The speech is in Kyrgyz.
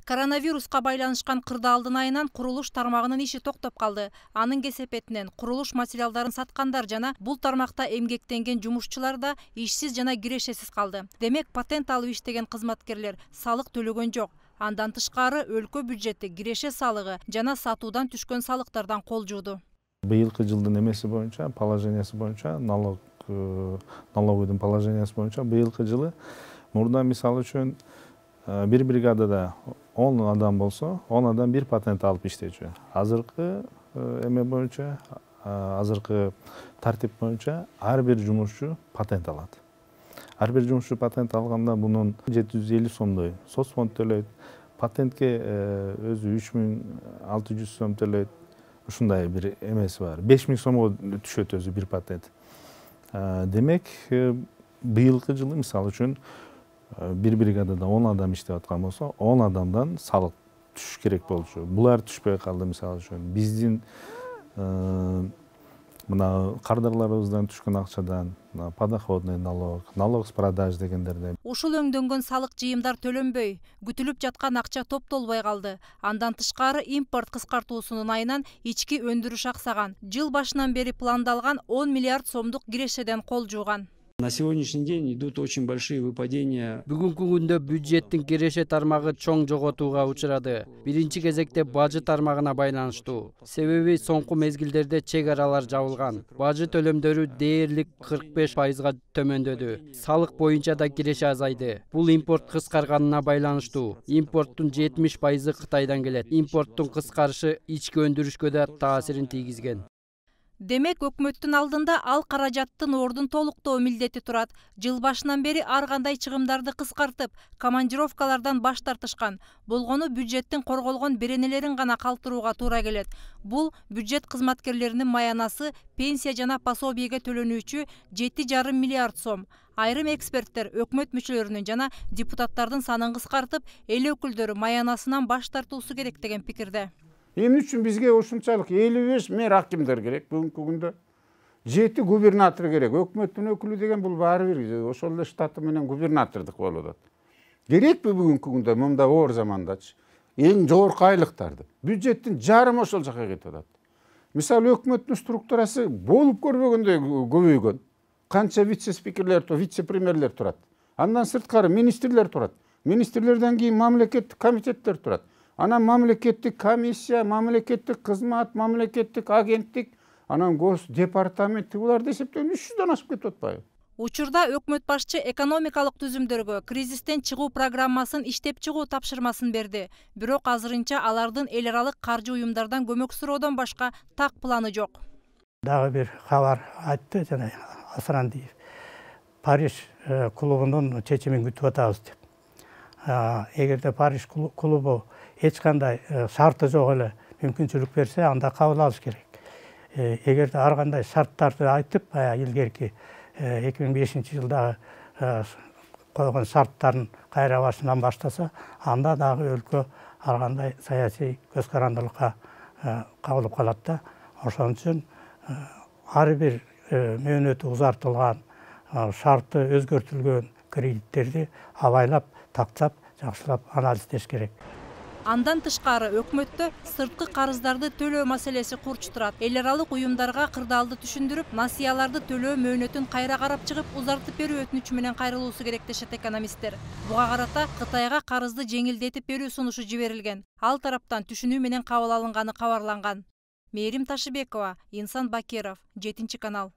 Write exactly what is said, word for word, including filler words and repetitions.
Коронавируска байланышкан кырдаалдын айынан курулуш тармагынын иши токтоп калды. Анын кесепетинен курулуш материалдарын саткандар жана бул тармакта эмгектенген жумушчулар да ишсиз жана кирешесиз калды. Демек, патент алып иштеген кызматкерлер салык төлөгөн жок. Андан тышкары өлкө бюджети киреше салыгы жана сатуудан түшкөн салыктардан кол жууду. Быйылкы жылдын эмеси боюнча, положениясы боюнча, налог налоговойдун положениясы боюнча быйылкы жылы мурда мисалы үчүн бир бригадада он адам болсо, он адам бир патент алып иштечү. Азыркы эме боюнча, азыркы тартип боюнча ар бир жумушчу патент алат. Ар бир жумушчу патент алганда мунун жети жүз элүү сомдой соцфонд төлөйт. Патентке өзү үч миң алты жүз сом төлөйт. Ушундай бир эмеси бар. беш миң сомго түшөт өзү бир патент. Демек, быйылкы жылы мисалы үчүн бир бригадада он адам иштеп аткан болсо, он адамдан салык түшүш керек болчу. Булар түшпөй калды мисалы үчүн. Биздин мына кардарларыбыздан түшкөн акчадан подоходный налог, налог с продаж дегендерде. Ушул өңдөнгөн салык жыйымдар төлөнбөй, күтүлүп жаткан акча топтолбой калды. Андан тышкары импорт кыскартуусунун айынан ички өндүрүш аксаган. Жыл башынан бери пландалган он миллиард сомдук кирешеден кол жууган. На сегодняшний день идут очень большие выпадения. Бүгүнкү күндө бюджеттин киреше тармагы чоң жоготууга учурады. Биринчи кезекте бажы тармагына байланыштуу. Себеби соңку мезгилдерде чек аралар жабылган. Бажы төлөмдөрү дээрлик кырк беш пайызга төмөндөдү. Салык боюнча да киреше азайды. Бул импорт кыскарганына байланыштуу. Импорттун жетимиш пайызы Кытайдан келет. Импорттун кыскарышы ички өндүрүшкө да таасирин тийгизген. Демек, өкмөттүн алдында ал каражаттын ордун толуктоо милдети турат. Жыл башынан бери ар кандай чыгымдарды кыскартып, командировкалардан баш тартышкан. Болгону бюджеттин корголгон беренелерин гана калтырууга туура келет. Бул бюджет кызматкерлеринин маянасы пенсия жана пособийге төлөнүүчү жети жарым миллиард сом. Айрым эксперттер өкмөт мүчөлөрүнүн жана депутаттардын санын кыскартып, эл өкүлдөрү маянасынан баш тартуусу керек деген пикирде. Эмне үчүн бизге ушунчалык элүү беш мэр акимдер керек бүгүнкү күндө? жети губернатор керек. Өкмөттүн өкүлү деген бул баары бир ошол эле штаты менен губернатордук болуп атат. Керекпи бүгүнкү күндө мында оор замандачы эң жогорку айлыктарды? Бюджеттин жарымы ошол жака кетип атат. Мисалы, өкмөттүн структурасы болуп көрбөгөндөй көбөйгөн. Канча вице-спикерлер, вице-премьерлер турат. Андан сырткары министрлер турат. Министрлерден кийин мамлекеттик комитеттер турат. Анан мамлекеттик комиссия, мамлекеттик кызмат, мамлекеттик агенттик, анан гос департамент, буларды эсептөгөндө үч жүздөн ашып кетип атпайбы? Учурда өкмөт башчы экономикалык түзүмдөргө кризистен чыгуу программасын иштеп чыгуу тапшырмасын берди. Бирок азырынча алардын эл аралык каржы уюмдардан көмөк суроодон башка так планы жок. Дагы бир кабар айтты жана Асрандиев. Париж клубунун чечимин күтүп атабыз деп. Эгерде Париж клубу эч кандай шарты жок эле мүмкүнчүлүк берсе, анда кабыл алыш керек. Эгерде ар кандай шарттарды айтып, илгерки эки миң бешинчи жылдагы койгон шарттарын кайра башынан баштаса, анда дагы өлкө ар кандай саясий көз карандылыкка кабылып калат да. Ошон үчүн ар бир мөөнөтү узартылган, шарты өзгөртүлгөн кредиттерди абайлап, тактап, жакшылап анализдеш керек. Андан тышкары өкмөттө сырткы карыздарды төлөө маселеси курч турат. Эл аралык уюмдарга кырдаалды түшүндүрүп, насыяларды төлөө мөөнөтүн кайра карап чыгып, узартып берүү өтүнүчү менен кайрылуусу керек дешет экономисттер. Буга карата Кытайга карызды жеңилдетип берүү сунушу жиберилген. Ал тараптан түшүнүү менен кабыл алынганы кабарланган. Мээрим Ташыбекова, Инсан Бакиров, жетинчи канал.